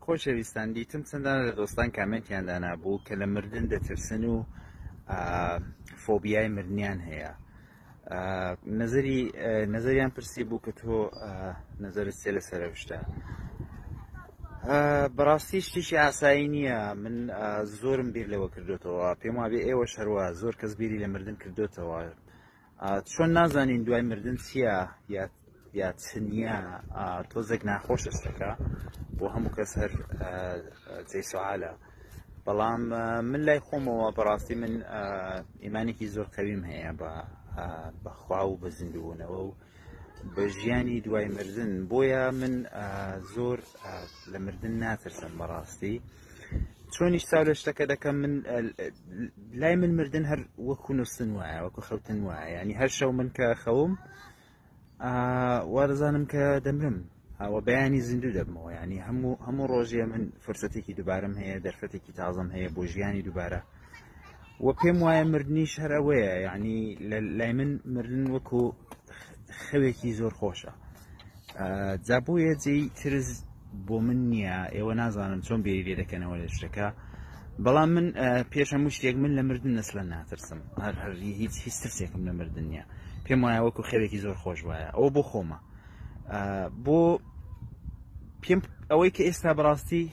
خۆشەویستان دیتم چەندانە لە دۆستان کامێنتیان دانابوو کە لە مردن دەترسن و فۆبیای مردنیان هەیە نەزەری نەزەریان پرسی بوو کە تۆ نەزەرت چێ لەسەر ئەو شتە بەڕاستی شتێکی ئاسایی نییە من زۆرم بیر لەوە کردوتەوە پێم وابێ ئێوە شەروە زۆر کەس بیری لە مردن کردوتەوە چۆن نازانین دوای مردن چییە یا یا چ نییە تۆزێک ناخۆشە شتەکە بۆ هەموو کەس هەر جێی سوالە بەڵام من لای خۆمەوە بەڕاستی من ئیمانێکی زۆر قەویم هەیە بە بەخوا و بە زیندووبوونەوە و بە ژیانی دوای مردن بۆیە من زۆر لە مردن ناترسم بەڕاستی چۆنیش چاو لە شتەکە دەکەم من لای من مردن هەر وەکو نووسن وایە وەکو خەوتن وایە ینی هەر شەو من کە خەوم وا دەزانم کە دەمرم ئەوە بەیانی زیندوو دەبمەوە ینی هەموو هەموو ڕۆژێ من فرسەتێکی دووبارەم هەیە دەرفەتێکی تازەم هەیە بۆ ژیانی دووبارە و پێم وایە مردنیش هەر ئەوەیە یعنی لای من مردن وەکو خەوێکی زۆر خۆشە جا بۆیە جێی ترس بۆ من نییە ئێوە نازانم چۆن بێری لێ دەکەنەوە لە شتەکە بەڵام من پێش هەموو شتێک من لە مردن نەسلە ناترسم هەر هەر هیچ هیچ ترسێکم لە مردن نییە پێم وایە وەکو خەوێکی زۆر خۆش وایە ئەوە بۆ خۆمە بۆ پێم ئەوەی کە ئێستا بەڕاستی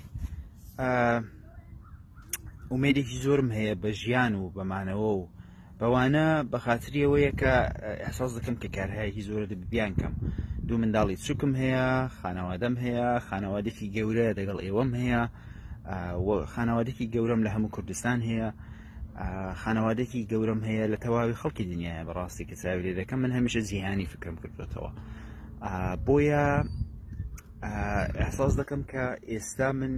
ئومێدێکی زۆرم هەیە بە ژیان و بەمانەوە و بەوانە بە خاتری ئەوەیە کە ئەحساس دەکەم کە کارهایەکی زۆرە دەبێت بیانکەم دوو منداڵی چووکم هەیە خانەوادەم هەیە خانەوادێکی گەورە دەگەڵ ئێوەم هەیە خانەوادێکی گەورەم لە هەموو کوردستان هەیە خانەوادێکی گەورەم هەیە لە تەواوی خەڵکی دنیاە بەڕاستی کە چاوی لێ دەکەم من هەمیشە جیهانی فکرم کردوێتەوە بۆیە ئەحساس دەکەم کە ئێستا من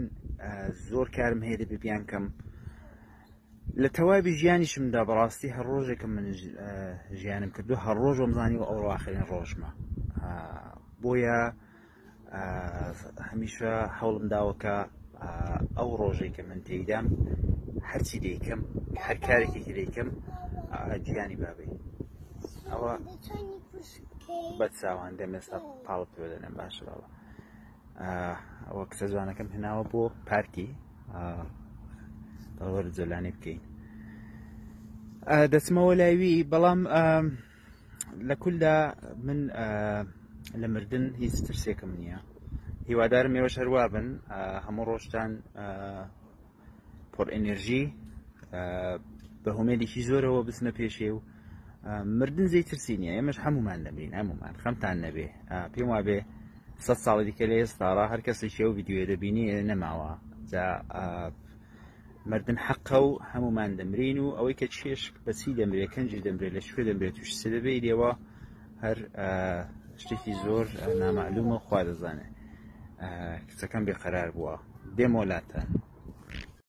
زۆر کارم هەیە دەبێ بیانکەم لە تەواوی ژیانیشمدا بەڕاستی هەر ڕۆژێکم من ژیانم کردو هەر ڕۆژ وەمزانی و ئەوڕۆ ئاخرین ڕۆژمە بۆیە هەمیشە هەوڵم داوە کە ئەو ڕۆژێک کە من تێیدام هەرچی دەیکەم هەر کارێکی دەیکەم گیانی بابێ ئەوە بە چاوان دەم ئێستا پاڵت پێ دەنێم باشە بابە ئەوە کچە جوانەکەم هێناوە بۆ پارکی دەڵوەرە جۆلانی بکەین دەچمەوە لاوی بەڵام لە کولدا من لە مردن هیچ ترسێکم نییە هیوادارم ئێوەش هەروا بن هەموو ڕۆژتان پڕ ئەنرژی بە هومێدێکی زۆرەوە بچنە پێشێ و مردن زی ترسی نییە ئێمەش هەمومان دەمرین هەمومان خەمتان نەبێ پێم وابێ سە ساڵی دیکە لە ئێستاڕا هەر کەسێکی ئەو ڤیددیوێ دەبینی نەماوە جا مردن حەقە و هەمومان دەمرین و ئەوەی کە چێش بەچی دەمرێت کەنجی دەمرێت لە شوێ دەمرێت توش سەدەبێ لێوە هەر شتێکی زۆر نامەعلومە خوا دەزانێت کچەکەم بێقەرار بووە دێمۆلاتان.